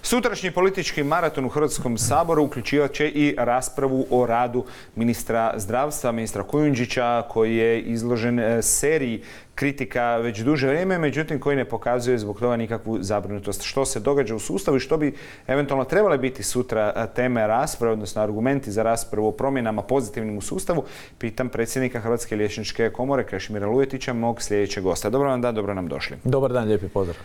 Sutrašnji politički maraton u Hrvatskom saboru uključivat će i raspravu o radu ministra zdravstva, ministra Kujundžića, koji je izložen seriji kritika već duže vrijeme, međutim koji ne pokazuje zbog toga nikakvu zabrinutost. Što se događa u sustavu i što bi eventualno trebale biti sutra teme rasprave, odnosno argumenti za raspravu o promjenama pozitivnim u sustavu, pitam predsjednika Hrvatske liječničke komore Krešimira Lujetića, mog sljedećeg gosta. Dobro vam dan, dobro nam došli. Dobar dan, lijepi pozdrav.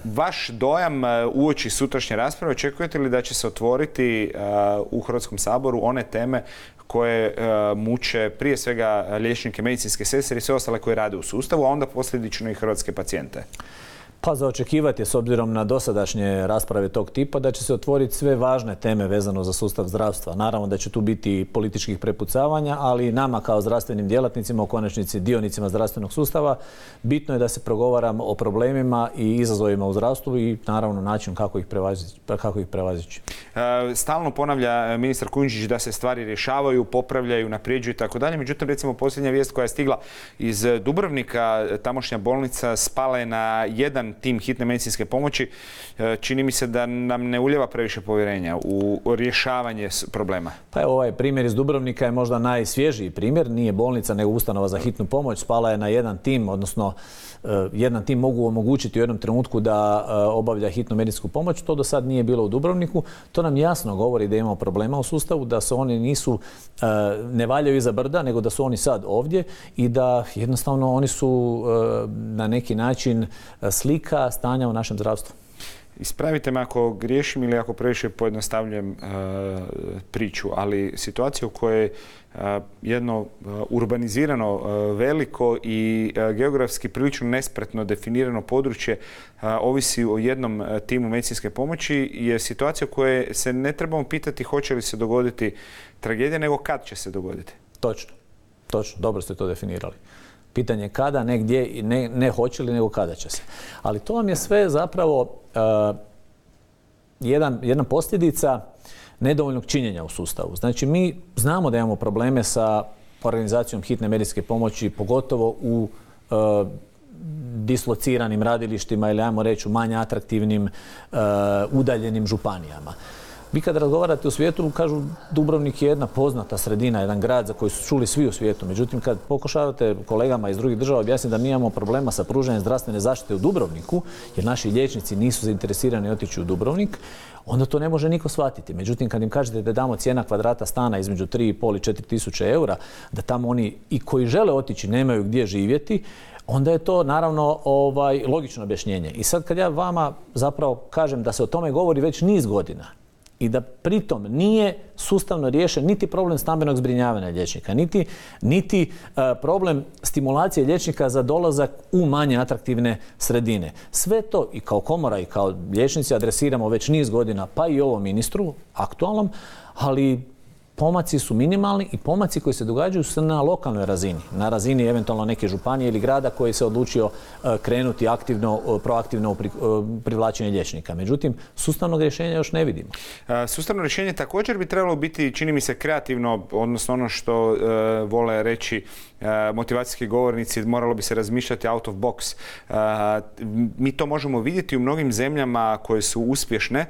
Vaš dojam uoči sutrašnje rasprave, očekujete li da će se otvoriti u Hrvatskom saboru one teme koje muče prije svega liječnike, medicinske sestre i sve ostale koje rade u sustavu, a onda posljedično i hrvatske pacijente? Pa za očekivati je, s obzirom na dosadašnje rasprave tog tipa, da će se otvoriti sve važne teme vezano za sustav zdravstva. Naravno da će tu biti političkih prepucavanja, ali nama kao zdravstvenim djelatnicima, u konačnici dionicima zdravstvenog sustava, bitno je da se progovaramo o problemima i izazovima u zdravstvu i naravno način kako ih prevazići. Stalno ponavlja ministar Kujundžić da se stvari rješavaju, popravljaju, napređuju i tako dalje. Međutim, recimo posljednja vijest koja je stigla iz Dubrovnika, tamošnja bolnica spala je na jedan tim hitne medicinske pomoći. Čini mi se da nam ne ulijeva previše povjerenja u rješavanje problema. Pa evo, ovaj primjer iz Dubrovnika je možda najsvježiji primjer. Nije bolnica nego ustanova za hitnu pomoć. Spala je na jedan tim, odnosno jedan tim mogu omogućiti u jednom trenutku da obavlja hitnu medicinsku pomoć. To do sad nije bilo u Dubrovniku. To nam jasno govori da imamo problema u sustavu, da se oni ne valjaju iza brda, nego da su oni sad ovdje i da jednostavno oni su na neki način slika stanja u našem zdravstvu. Ispravite me ako griješim ili ako previše pojednostavljujem priču, ali situacija u kojoj jedno urbanizirano, veliko i geografski prilično nespretno definirano područje ovisi o jednom timu medicinske pomoći je situacija u kojoj se ne trebamo pitati hoće li se dogoditi tragedija, nego kad će se dogoditi. Točno. Dobro ste to definirali. Pitanje je kada, ne gdje, ne hoće li, nego kada će se. Ali to vam je sve zapravo jedna posljedica nedovoljnog činjenja u sustavu. Znači, mi znamo da imamo probleme sa organizacijom hitne medicinske pomoći, pogotovo u dislociranim radilištima ili, ajmo reći, u manje atraktivnim, udaljenim županijama. Vi kad razgovarate u svijetu, kažu Dubrovnik je jedna poznata sredina, jedan grad za koji su čuli svi u svijetu. Međutim, kad pokušavate kolegama iz drugih država objasniti da mi imamo problema sa pružanjem zdravstvene zaštite u Dubrovniku, jer naši liječnici nisu zainteresirani otići u Dubrovnik, onda to ne može niko shvatiti. Međutim, kad im kažete da damo cijena kvadrata stana između 3,5 i 4 tisuće eura, da tamo oni i koji žele otići nemaju gdje živjeti, onda je to naravno logično objašnjenje. I sad kad ja vama zapravo kažem da se o tome govori već niz godina, i da pritom nije sustavno riješen niti problem stambenog zbrinjavanja liječnika, niti problem stimulacije liječnika za dolazak u manje atraktivne sredine. Sve to i kao komora i kao liječnici adresiramo već niz godina, pa i ovom ministru aktualnom, ali pomaci su minimalni i pomaci koji se događaju su na lokalnoj razini, na razini eventualno neke županije ili grada koji se odlučio krenuti proaktivno u privlačenje liječnika. Međutim, sustavnog rješenja još ne vidimo. Sustavno rješenje također bi trebalo biti, čini mi se, kreativno, odnosno ono što vole reći motivacijski govornici, moralo bi se razmišljati out of box. Mi to možemo vidjeti u mnogim zemljama koje su uspješne.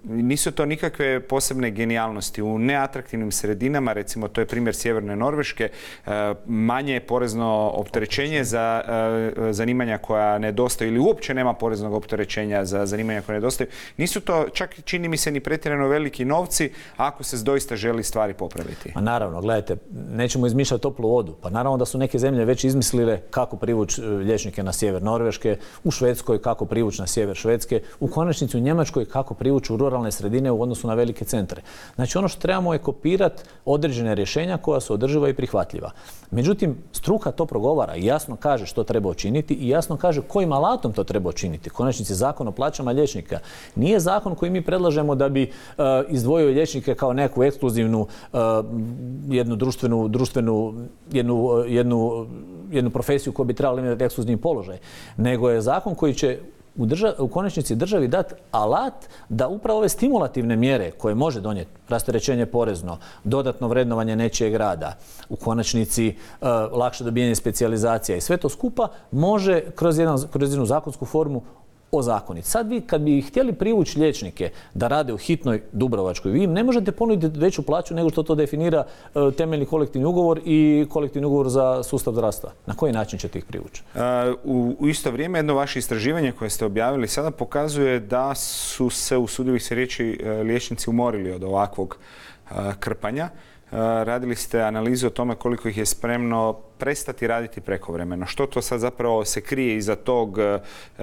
Nisu to nikakve posebne genijalnosti. U neatraktivnim sredinama, recimo to je primjer sjeverne Norveške, manje je porezno opterećenje za zanimanja koja nedostaju ili uopće nema poreznog opterećenja za zanimanja koja nedostaju. Nisu to čak, čini mi se, ni pretjerano veliki novci ako se doista želi stvari popraviti. Pa naravno, gledajte, nećemo izmišljati toplu vodu. Pa naravno da su neke zemlje već izmislile kako privući liječnike na sjever Norveške, u Švedskoj kako privući na sjever Švedske, u konačnici u Njemačkoj kako privući u ruralne sredine u odnosu na velike centre. Znači ono što trebamo je kopirati određene rješenja koja su održiva i prihvatljiva. Međutim, struka to progovara i jasno kaže što treba učiniti i jasno kaže kojim alatom to treba učiniti. Konačnici Zakon o plaćama liječnika nije zakon koji mi predlažemo da bi izdvojio liječnike kao neku ekskluzivnu jednu profesiju koja bi trebala imati ekskluzivni položaj, nego je zakon koji će u konačnici državi dati alat da upravo ove stimulativne mjere koje može donijeti, rasterećenje porezno, dodatno vrednovanje nečijeg rada, u konačnici lakše dobijanje specijalizacija i sve to skupa može kroz jednu zakonsku formu ozakoniti. Sad vi kad bi htjeli privući liječnike da rade u hitnoj dubrovačkoj, vi im ne možete ponuditi veću plaću nego što to definira temeljni kolektivni ugovor i kolektivni ugovor za sustav zdravstva. Na koji način ćete ih privući? U isto vrijeme jedno vaše istraživanje koje ste objavili sada pokazuje da su se, usudio bih se reći, liječnici umorili od ovakvog krpanja. Radili ste analizu o tome koliko ih je spremno prestati raditi prekovremeno. Što to sad zapravo se krije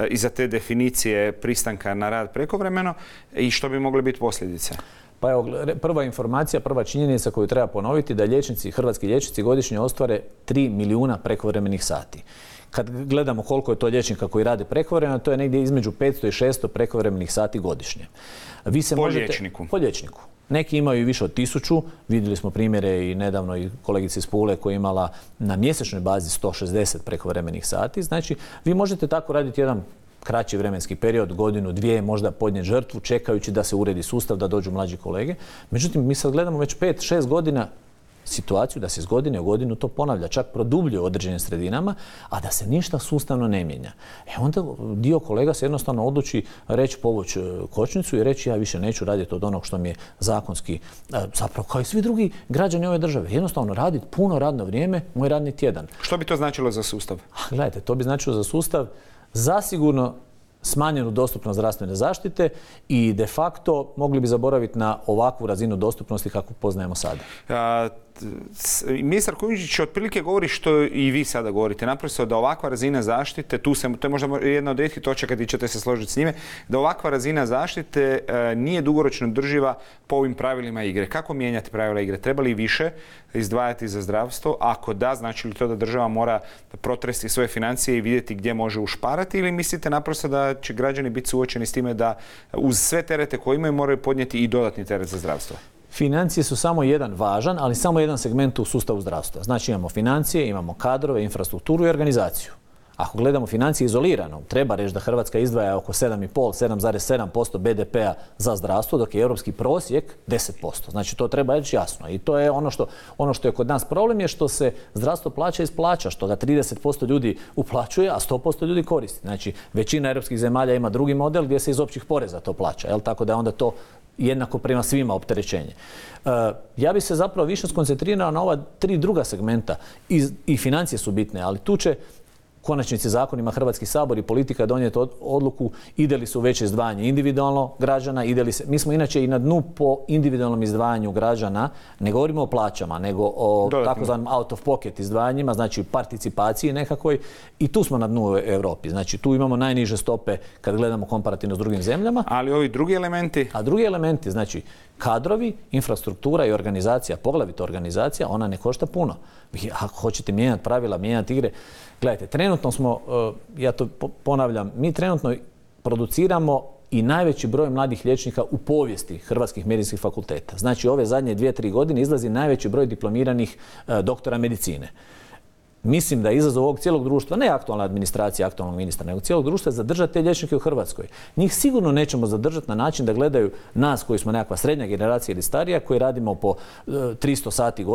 iza te definicije pristanka na rad prekovremeno i što bi mogle biti posljedice? Pa evo, prva informacija, prva činjenica koju treba ponoviti da hrvatski liječnici godišnje ostvare 3 milijuna prekovremenih sati. Kad gledamo koliko je to liječnika koji rade prekovremeno, to je negdje između 500 i 600 prekovremenih sati godišnje. Liječniku? Po liječniku. Neki imaju i više od 1000. Vidjeli smo primjere i nedavno i kolegice iz Pule koja je imala na mjesečnoj bazi 160 prekovremenih sati. Znači, vi možete tako raditi jedan kraći vremenski period, godinu, dvije, možda podnijeti žrtvu, čekajući da se uredi sustav, da dođu mlađi kolege. Međutim, mi sad gledamo već 5-6 godina situaciju da se iz godine u godinu to ponavlja, čak produbljuje u određenim sredinama, a da se ništa sustavno ne mijenja. Onda dio kolega se jednostavno odluči reći povući kočnicu i reći ja više neću raditi od onog što mi je zakonski, zapravo kao i svi drugi građani ove države. Jednostavno raditi puno radno vrijeme, moj radni tjedan. Što bi to značilo za sustav? Gledajte, to bi značilo za sustav zasigurno smanjenu dostupnost zdravstvene zaštite i de facto mogli bi zaboraviti na ovakvu razinu dostupnosti kakvu poznajemo sada. Ministar Kujundžić otprilike govori što i vi sada govorite, naprosto da ovakva razina zaštite, to je možda jedna od rijetkih točaka gdje ćete se složiti s njime, da ovakva razina zaštite nije dugoročno održiva po ovim pravilima igre. Kako mijenjati pravila igre? Treba li više izdvajati za zdravstvo? Ako da, znači li to da država mora protresti svoje financije i vidjeti gdje može ušparati, ili mislite naprosto da će građani biti suočeni s time da uz sve terete koje imaju moraju podnijeti i dodatni teret za zdravstvo? Financije su samo jedan važan, ali samo jedan segment u sustavu zdravstva. Znači imamo financije, imamo kadrove, infrastrukturu i organizaciju. Ako gledamo financije izolirano, treba reći da Hrvatska izdvaja oko 7,7% BDP-a za zdravstvo, dok je europski prosjek 10%. Znači to treba reći jasno. I to je ono što je kod nas problem, je što se zdravstvo plaća iz plaća, što ga 30% ljudi uplaćuje, a 100% ljudi koristi. Znači većina europskih zemalja ima drugi model gdje se iz općih poreza to plaća. Tako da je onda to jednako prema svima opterećenje. Ja bi se zapravo više skoncentrirao na ova 3 druga segmenta i financije su bitne, ali tu će konačnici zakonima Hrvatski sabor i politika donijeti odluku ide li se u veće izdvajanje individualno građana, mi smo inače i na dnu po individualnom izdvajanju građana, ne govorimo o plaćama, nego o takozvanom out of pocket izdvajanjima, znači participaciji nekakvoj, i tu smo na dnu u Europi. Znači tu imamo najniže stope kad gledamo komparativno s drugim zemljama. Ali ovi drugi elementi? A drugi elementi, znači kadrovi, infrastruktura i organizacija, poglavito organizacija, ona ne košta puno. Ako hoćete mijenjati pravila, mijenjati igre, gledajte, trenutno smo, ja to ponavljam, mi trenutno produciramo i najveći broj mladih liječnika u povijesti hrvatskih medicinskih fakulteta. Znači ove zadnje 2-3 godine izlazi najveći broj diplomiranih doktora medicine. Mislim da je izazov ovog cijelog društva, ne aktualna administracija, aktualnog ministra, nego cijelog društva zadržati te liječnike u Hrvatskoj. Njih sigurno nećemo zadržati na način da gledaju nas koji smo nekakva srednja generacija ili starija, koji radimo po 300 sati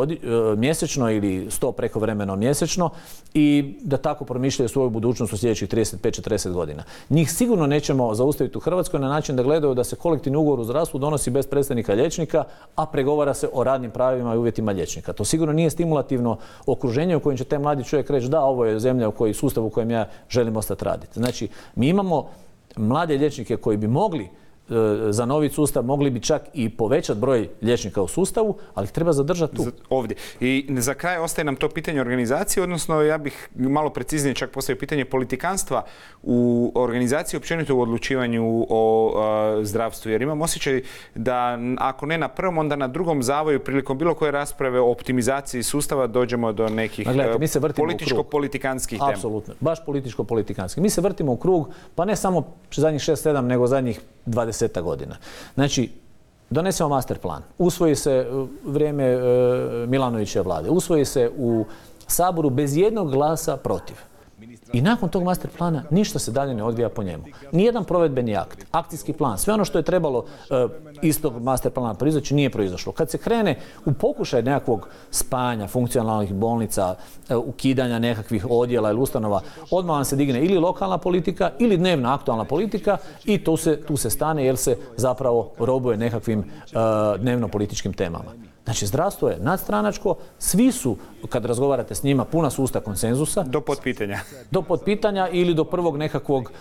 mjesečno ili 100 prekovremeno mjesečno i da tako promišljaju svoju budućnost u sljedećih 35-40 godina. Njih sigurno nećemo zaustaviti u Hrvatskoj na način da gledaju da se kolektivni ugovor u zdravstvu donosi bez predstavnika liječnika, a pregovara se o radnim pravima i uvjetima liječnika. To sigurno nije stimulativno okruženje u kojem će te mladi čovjek reći da, ovo je zemlja sustav u kojem ja želim ostati raditi. Znači, mi imamo mlade liječnike koji bi mogli za novi sustav, mogli bi čak i povećati broj liječnika u sustavu, ali ih treba zadržati tu. Ovdje. I za kraj ostaje nam to pitanje organizacije, odnosno ja bih malo preciznije čak postavio pitanje politikanstva u organizaciji, općenito u odlučivanju o zdravstvu. Jer imam osjećaj da ako ne na prvom, onda na drugom zavoju prilikom bilo koje rasprave o optimizaciji sustava dođemo do nekih političko-politikanskih tema. Apsolutno, baš političko-politikanskih. Mi se vrtimo u krug, pa ne samo zadnjih 6-7, nego zadnjih 20 godina. Znači, donesemo master plan, usvoji se vrijeme Milanovićeve vlade, usvoji se u Saboru bez jednog glasa protiv. I nakon tog master plana ništa se dalje ne odvija po njemu. Nijedan provedbeni akt, akcijski plan, sve ono što je trebalo iz tog master plana proizaći nije proizašlo. Kad se krene u pokušaj nekakvog spajanja funkcionalnih bolnica, ukidanja nekakvih odjela ili ustanova, odmah vam se digne ili lokalna politika ili dnevna aktualna politika i tu se stane jer se zapravo robuje nekakvim dnevno političkim temama. Znači, zdravstvo je nadstranačko, svi su, kad razgovarate s njima, puna su usta konsenzusa. Do potpitanja. Do potpitanja ili do prvog nekakvog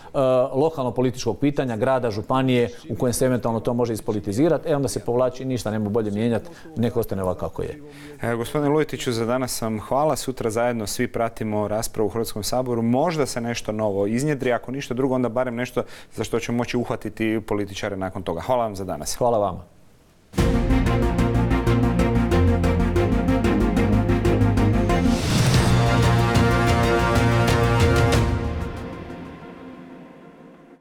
lokalno-političkog pitanja grada, županije u kojem se eventualno to može ispolitizirati, onda se povlači, ništa nema bolje mijenjati, neko ostane ovako kako je. Gospodine Lujetiću, za danas vam hvala. Sutra zajedno svi pratimo raspravu u Hrvatskom saboru. Možda se nešto novo iznjedri, ako ništa drugo, onda barem nešto za što ćemo moći uhvatiti političare nakon toga. Hvala vam za danas. Hvala vama.